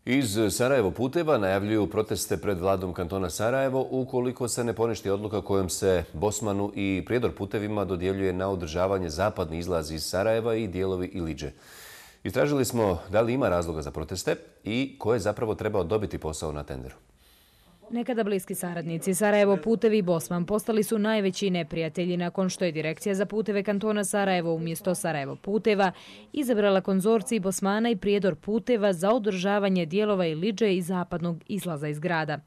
Iz Sarajevo puteva najavljuju proteste pred vladom kantona Sarajevo ukoliko se ne poništi odluka kojom se Bosmanu i Prijedor putevima dodjeljuje na održavanje zapadni izlaz iz Sarajeva i dijelovi Ilidže. Istražili smo da li ima razloga za proteste i ko je zapravo trebao dobiti posao na tenderu. Nekada bliski saradnici Sarajevo putevi i Bosman postali su najveći neprijatelji nakon što je Direkcija za puteve kantona Sarajevo umjesto Sarajevo puteva izabrala konzorcij Bosmana i Prijedor puteva za održavanje dijelova Ilidže i zapadnog izlaza iz grada.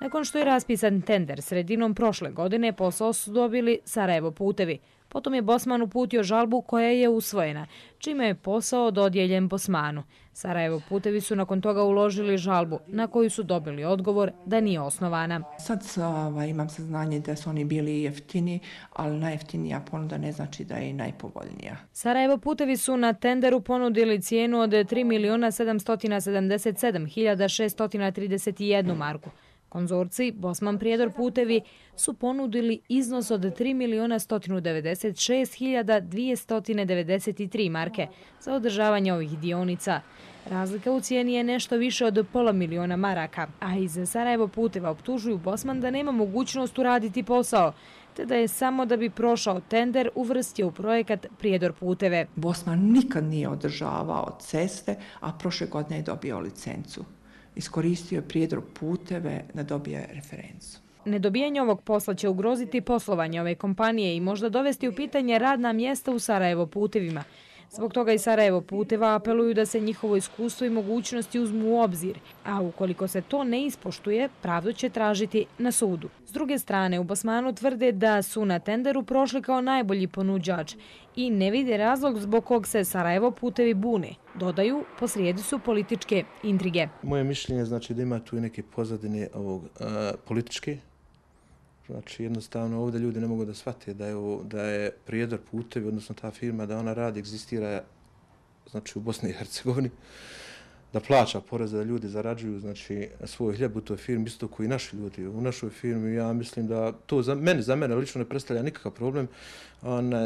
Nakon što je raspisan tender sredinom prošle godine, posao su dobili Sarajevo putevi. Potom je Bosman uputio žalbu koja je usvojena, čime je posao dodijeljen Bosmanu. Sarajevo putevi su nakon toga uložili žalbu, na koju su dobili odgovor da nije osnovana. Sad imam saznanje da su oni bili jeftini, ali najjeftinija ponuda ne znači da je i najpovoljnija. Sarajevo putevi su na tenderu ponudili cijenu od 3.777.631 marku. Konzorcij Bosman Prijedor putevi su ponudili iznos od 3.196.293 marke za održavanje ovih dionica. Razlika u cijeni je nešto više od $500.000 maraka, a iz Sarajevo puteva optužuju Bosman da nema mogućnost uraditi posao, te da je samo da bi prošao tender uvrstio u projekat Prijedor puteve. Bosman nikad nije održavao ceste, a prošle godine je dobio licencu. Iskoristio je Prijedor puteve da dobije referencu. Nedobijanje ovog posla će ugroziti poslovanje ove kompanije i možda dovesti u pitanje radna mjesta u Sarajevo putevima. Zbog toga i Sarajevo puteva apeluju da se njihovo iskustvo i mogućnosti uzmu u obzir, a ukoliko se to ne ispoštuje, pravdu će tražiti na sudu. S druge strane, u Bosmanu tvrde da su na tenderu prošli kao najbolji ponuđač i ne vide razlog zbog kog se Sarajevo putevi bune. Dodaju, posrijedi su političke intrige. Moje mišljenje znači da ima tu i neke pozadine političke. Znači jednostavno ovdje ljudi ne mogu da shvate da je Prijedor putevi, odnosno ta firma, da ona radi, egzistira znači u Bosni i Hercegovini, da plaća poreze, da ljudi zarađuju znači svoj hljeb u toj firmi, isto koji i naši ljudi u našoj firmi. Ja mislim da to za mene lično ne predstavlja nikakav problem.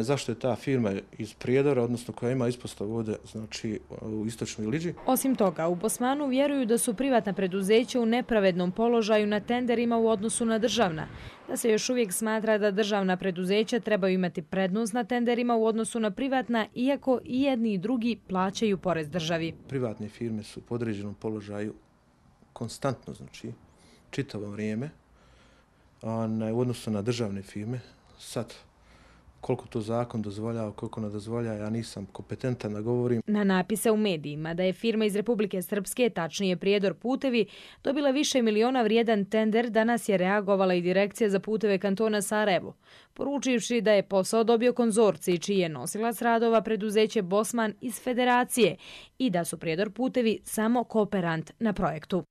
Zašto je ta firma iz Prijedora, odnosno koja ima ispostavu ovdje znači u istočnoj Ilidži. Osim toga, u Bosmanu vjeruju da su privatna preduzeća u nepravednom položaju na tenderima u odnosu na državna, da se još uvijek smatra da državna preduzeća trebaju imati prednost na tenderima u odnosu na privatna, iako i jedni i drugi plaćaju porez državi. Privatne firme su u podređenom položaju konstantno, znači čitavo vrijeme, u odnosu na državne firme. Sad, koliko to zakon dozvoljava, koliko ne dozvoljava, ja nisam kompetentan da govorim. Na napise u medijima da je firma iz Republike Srpske, tačnije Prijedor putevi, dobila više miliona vrijedan tender, danas je reagovala i Direkcija za puteve kantona Sarajevo, poručivši da je posao dobio konzorcij čiji je nosilac radova preduzeće Bosman iz Federacije i da su Prijedor putevi samo kooperant na projektu.